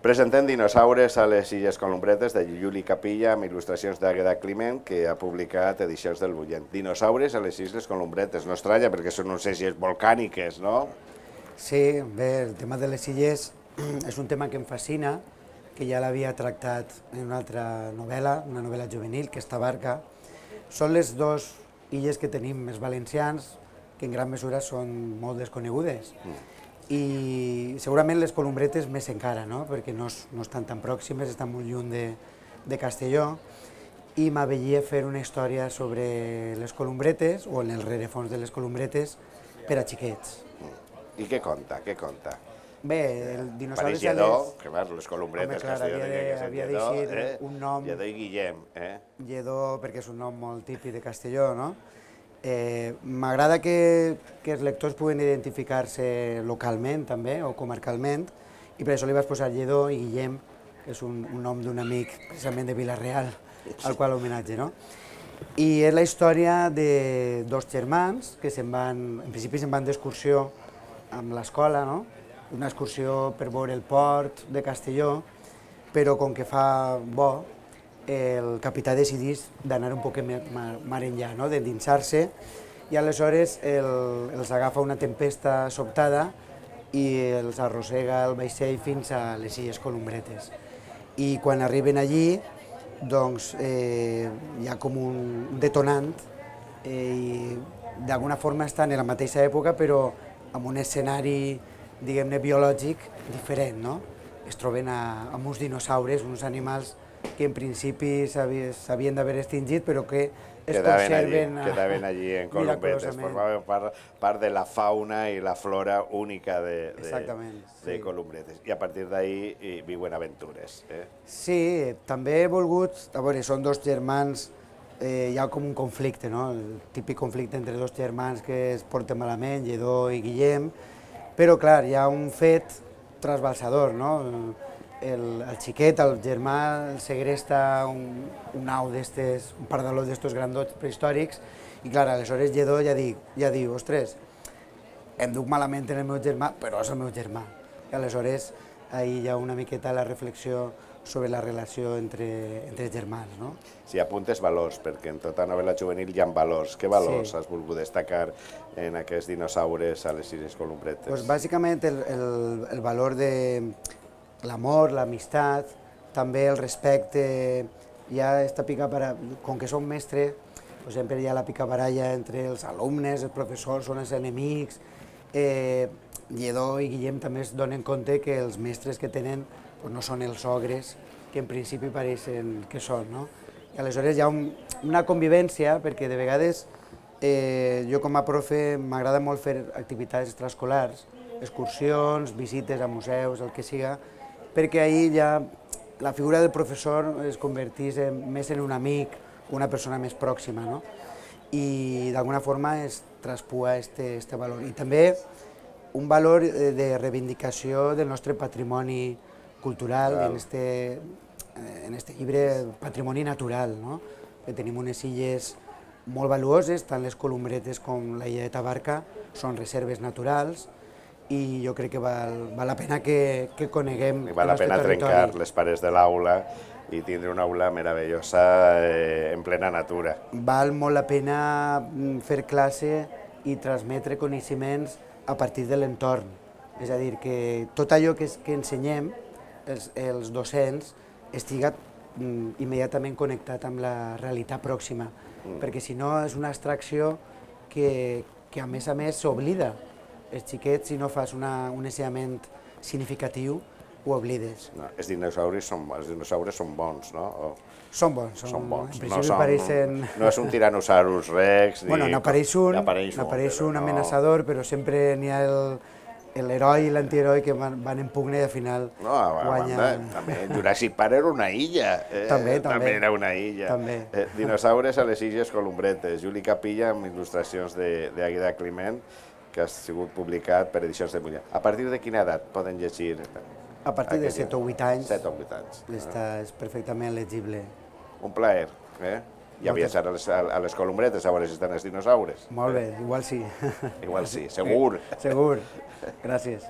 Presentem Dinosaures a les Illes Columbretes de Juli Capilla amb il·lustracions d'Àgueda Climent, que ha publicat Edicions del Bullent. Dinosaures a les Illes Columbretes, no estranya perquè són unes illes volcàniques, no? Sí, bé, el tema de les illes és un tema que em fascina, que ja l'havia tractat en una altra novel·la, una novel·la juvenil, que és Tabarca. Són les dues illes que tenim més valencians, que en gran mesura són molt desconegudes. I segurament les Columbretes més encara, no? Perquè no estan tan pròximes, estan molt lluny de Castelló, i m'avelia fer una història sobre les Columbretes, o en el rerefons de les Columbretes, per a xiquets. I què conta, què conta? Bé, el Dinosaures... Pareix Lledó, que va, les Columbretes, Castelló havia d'eixir un nom... Lledó i Guillem, Lledó, perquè és un nom molt típic de Castelló, no? M'agrada que els lectors puguen identificar-se localment també, o comarcalment, i per això li vaig posar Lledó i Guillem, que és un nom d'un amic precisament de Vila-real, al qual homenatge, no? I és la història de dos germans que en principi se'n van d'excursió amb l'escola, no? Una excursió per veure el port de Castelló, però com que fa bo, el capità decidís d'anar un poc mar enllà, d'endinsar-se, i aleshores els agafa una tempesta sobtada i els arrossega el vaixell fins a les Illes Columbretes. I quan arriben allí, doncs, hi ha com un detonant, i d'alguna forma estan en la mateixa època, però amb un escenari, diguem-ne, biològic diferent, no? Es troben amb uns dinosaures, uns animals que en principi s'havien d'haver extingit, però que es conserven... Quedaven allí en Columbretes, formaven part de la fauna i la flora única de Columbretes. I a partir d'ahir viuen aventures. Sí, també he volgut... A veure, són dos germans, hi ha com un conflicte, no? El típic conflicte entre dos germans que es porten malament, Lledó i Guillem, però clar, hi ha un fet trasbalsador, no? El xiquet, el germà, el segresta un au d'estes, un pardaló d'estos grandots prehistòrics, i clar, aleshores Lledó ja diu, ostres, em duc malament en el meu germà, però és el meu germà. I aleshores ahir hi ha una miqueta la reflexió sobre la relació entre germans, no? Si apuntes valors, perquè en tota novel·la juvenil hi ha valors. Què valors has volgut destacar en aquests dinosaures a les Illes Columbretes? Doncs bàsicament el valor de l'amor, l'amistat, també el respecte, hi ha esta picabaralla, com que som mestres, sempre hi ha la picabaralla entre els alumnes, els professors, són els enemics. Lledó i Guillem també es donen compte que els mestres que tenen no són els ogres que en principi pareixen que són, no? I aleshores hi ha una convivència, perquè de vegades jo com a profe m'agrada molt fer activitats extraescolars, excursions, visites a museus, el que siga, perquè ahir ja la figura del professor es convertís més en un amic, una persona més pròxima, no? I d'alguna forma es traspua este valor. I també un valor de reivindicació del nostre patrimoni cultural, en este llibre Patrimoni Natural, no? Que tenim unes illes molt valuoses, tant les Columbretes com la illa de Tabarca, són reserves naturals, i jo crec que val la pena que coneguem el nostre territori. Val la pena trencar les parets de l'aula i tindre una aula meravellosa en plena natura. Val molt la pena fer classe i transmetre coneixements a partir de l'entorn. És a dir, que tot allò que ensenyem, els docents, estiga immediatament connectat amb la realitat pròxima, perquè si no és una abstracció que a més s'oblida. Els xiquets, si no fas un ensenyament significatiu, ho oblides. Els dinosaures són bons, no? Són bons. Són bons. En principi pareixen... No és un Tyrannosaurus Rex... Bueno, n'apareix un amenaçador, però sempre n'hi ha l'heroi i l'antiheroi que van en pugna i al final guanyen... També Jurassic Park era una illa. També era una illa. Dinosaures a les Illes Columbretes. Juli Capilla amb il·lustracions d'Àgueda Climent, que ha sigut publicat per Edicions del Bullent. A partir de quina edat poden llegir? A partir de 7 o 8 anys. 7 o 8 anys. És perfectament legible. Un plaer. Ja viatjar a les Columbretes a veure si estan els dinosaures. Molt bé, igual sí. Igual sí, segur. Segur. Gràcies.